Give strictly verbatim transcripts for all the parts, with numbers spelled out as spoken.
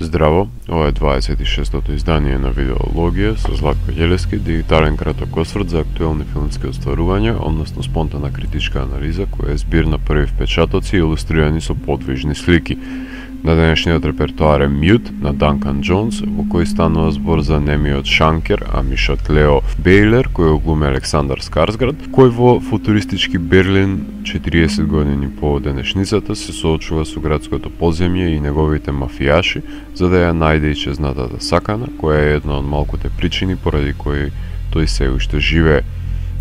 Здраво, ова е дваесет и шестото издание на Видеологија со Златко Ѓелевски, дигитален краток осврт за актуелни филмски остварувања, односно спонтана критичка анализа која е збир на први впечатоци илустрирани со подвижни слики. На денешниот репертоар е Mute на Данкан Джонс, во кој станува збор за немиот Шанкер, а мишот Лео Бейлер, кој глуми Александар Скарсгард, кој во футуристички Берлин четириесет години по денешницата се соочува со градското подземје и неговите мафијаши, за да ја најде и чезнатата сакана, која е една од малкуте причини поради кои тој се уште живее.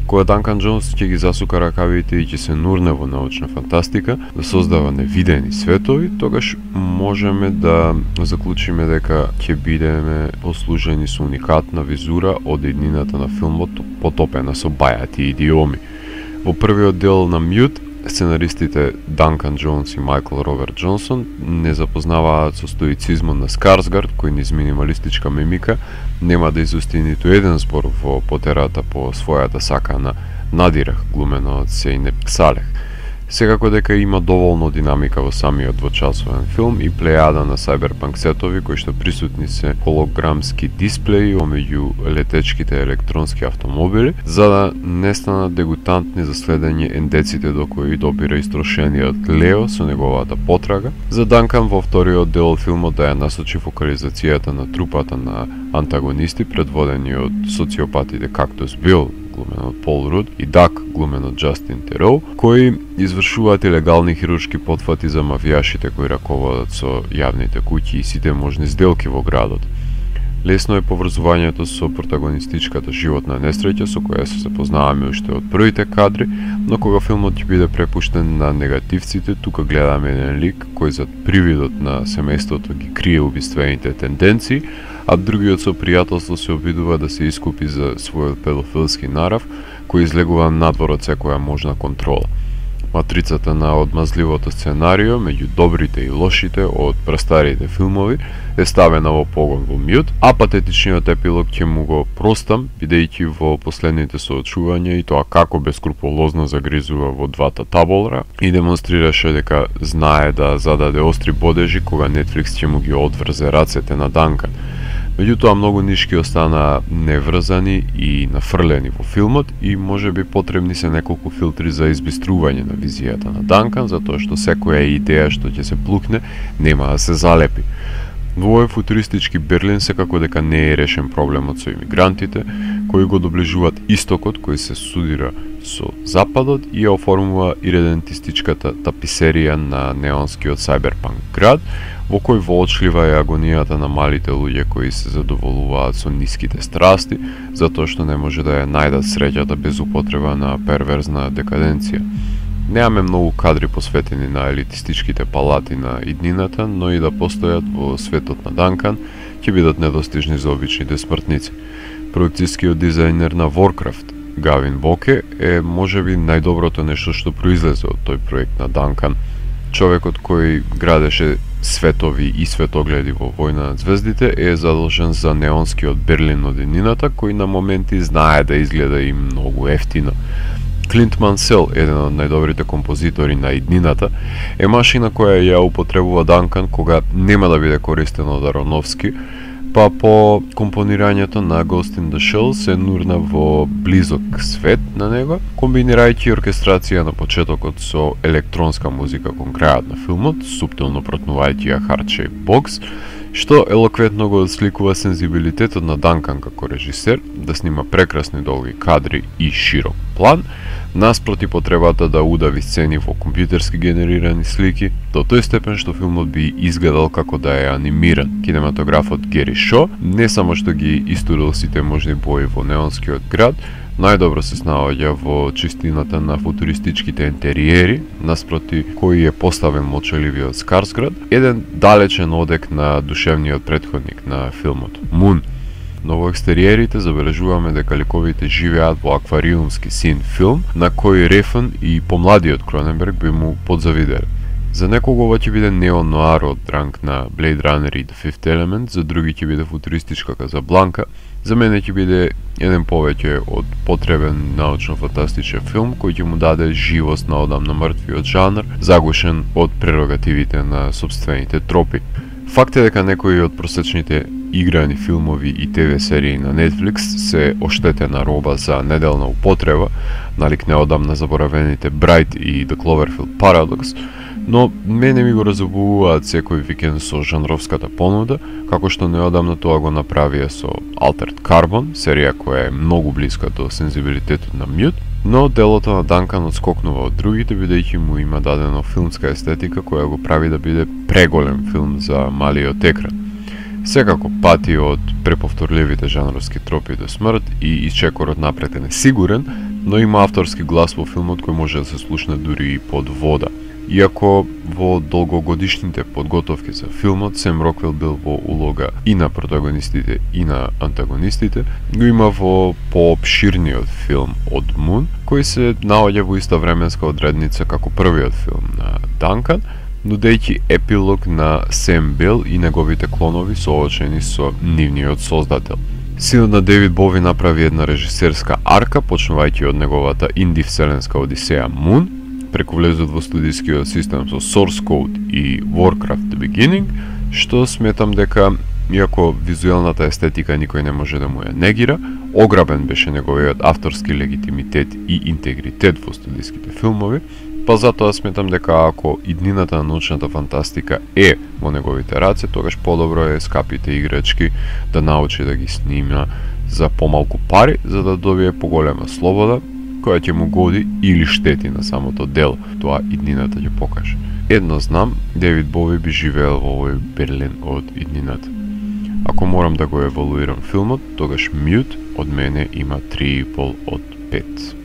Кога Данкан Джонс ќе ги засука ракавите и ќе се нурне во научна фантастика, да создава невидени светови, тогаш можеме да заклучиме дека ќе бидеме послужени со уникатна визура од иднината на филмот, потопена со бајати идиоми. Во првиот дел на Mute, сценаристите Данкан Джонс и Майкл Роберт Джонсон не запознаваат со стоицизмот на Скарсгард, кој низ минималистичка мимика нема да изусти ниту еден збор во потерата по својата сакана Надирах, глумено од Сейнеп Салех. Секако дека има доволно динамика во самиот двочасовен филм и плејада на сајберпанк сетови кои што присутни се холограмски дисплеи помеѓу летечките електронски автомобили, за да не станат дегутантни за следење ендеците до кои допира истрошениот Лео со неговата потрага. За Данкан во вториот дел од филмот да ја насочи фокализацијата на трупата на антагонисти предводени од социопатите Кактус Бил, глумен од Пол Руд, и Дак, глумен од Джастин Тероу, кои извршуваат илегални хируршки потфати за мафијашите кои раководат со јавните куќи и сите можни сделки во градот. Лесно е поврзувањето со протагонистичката животна несреќа со која се запознаваме уште од првите кадри, но кога филмот ќе биде препуштен на негативците, тука гледаме еден лик кој зад привидот на семејството ги крие убиствените тенденции, а другиот со пријателство се обидува да се искупи за својот педофилски нарав, кој излегува надвор од секоја можна контрола. Матрицата на одмазливото сценарио меѓу добрите и лошите од прастарите филмови е ставена во погон во Mute, а патетичниот епилог ќе му го простам, бидејќи во последните соочувања и тоа како бескрупулозно загризува во двата таболра и демонстрираше дека знае да зададе остри бодежи кога Netflix ќе му ги одврзе рацете на Данкан. Меѓутоа многу нишки останаа неврзани и нафрлени во филмот и можеби потребни се неколку филтри за избистрување на визијата на Данкан, затоа што секоја идеја што ќе се плукне нема да се залепи. Во овој футуристички Берлин секако дека не е решен проблемот со имигрантите, кои го доближуваат истокот кој се судира со западот и ја оформува иредентистичката таписерија на неонскиот сајберпанк град, во кој воочлива е агонијата на малите луѓе кои се задоволуваат со ниските страсти, затоа што не може да ја најдат среќата без употреба на перверзна декаденција. Немаме многу кадри посветени на елитистичките палати на иднината, но и да постојат во светот на Данкан, ќе бидат недостижни за обичните смртници. Проекцијскиот дизајнер на Warcraft, Гавин Боке, е можеби најдоброто нешто што произлезе од тој проект на Данкан. Човекот кој градеше светови и светогледи во Војна на звездите е задолжен за неонскиот Берлин од иднината, кој на моменти знае да изгледа и многу ефтино. Клинт Мансел, еден од најдобрите композитори на иднината, е машина која ја употребува Данкан кога нема да биде користен од Аронофски, па по компонирањето на Ghost in the Shell се нурна во близок свет на него, комбинирајќи оркестрација на почетокот со електронска музика кон крајот на филмот, суптилно протнувајќи ја Heart Shaped Box, што елоквентно го отсликува сензибилитетот на Данкан како режисер да снима прекрасни долги кадри и широк план, наспроти потребата да удави сцени во компјутерски генерирани слики, до тој степен што филмот би изгледал како да е анимиран. Кинематографот Гери Шо не само што ги истурил сите можни бои во неонскиот град, најдобро се снаоѓа во чистината на футуристичките интериери, наспроти кој е поставен молчаливиот Скарсгард, еден далечен одек на душевниот претходник на филмот, Мун. Но во екстериерите забележуваме дека ликовите живеат во аквариумски син филм, на кој Рефн и помладиот Кроненберг би му подзавиделе. За некого ова ќе биде неон-ноар од ранг на Blade Runner и The Fifth Element, за други ќе биде футуристичка Казабланка, за мене ќе биде еден повеќе од потребен научно-фантастичен филм кој ќе му даде живост на одамна мртвиот жанр, заглушен од прерогативите на сопствените тропи. Факт е дека некои од просечните играни филмови и ТВ серии на Netflix се оштетена роба за неделна употреба, налик неодамна заборавените Bright и The Cloverfield Paradox, но мене ми го разобувуваат секој викенд со жанровската понуда, како што неодамна тоа го направија со Altered Carbon, серија која е многу блиска до сензибилитетот на Mute, но делото на Данкан отскокнува од другите, бидејќи му има дадено филмска естетика која го прави да биде преголем филм за малиот екран. Секако пати од преповторливите жанровски тропи до смрт и исчекорот напред е несигурен, но има авторски глас во филмот кој може да се слушне дури и под вода. Иако во долгогодишните подготовки за филмот Сем Роквел бил во улога и на протагонистите и на антагонистите, го има во поопширниот филм од Мун, кој се наоѓа во иста временска одредница како првиот филм на Данкан, нудејќи епилог на Сем Бел и неговите клонови соочени со нивниот создател. Синот на Девид Бови направи една режисерска арка, почнувајќи од неговата инди вселенска одисеја Мун, преку влезот во студискиот систем со Source Code и Warcraft The Beginning, што сметам дека, иако визуелната естетика никој не може да му ја негира, ограбен беше неговиот авторски легитимитет и интегритет во студиските филмови, па затоа сметам дека ако иднината на научната фантастика е во неговите раце, тогаш подобро е скапите играчки да научи да ги снима за помалку пари, за да добие поголема слобода, која ќе му годи или штети на самото дело. Тоа иднината ќе покаже. Едно знам, Девид Бови би живеел во овој Берлин од иднината. Ако морам да го евалуирам филмот, тогаш Mute од мене има три и пол од пет.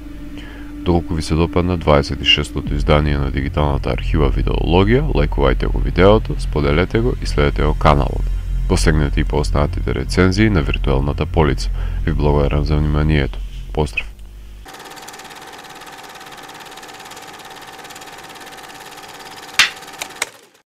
Доколку ви се допадна дваесет и шестото издание на дигиталната архива Видеологија, лајкувајте го видеото, споделете го и следете го каналот. Посегнете и по останатите рецензии на виртуелната полица. Ви благодарам за вниманието. Поздрав!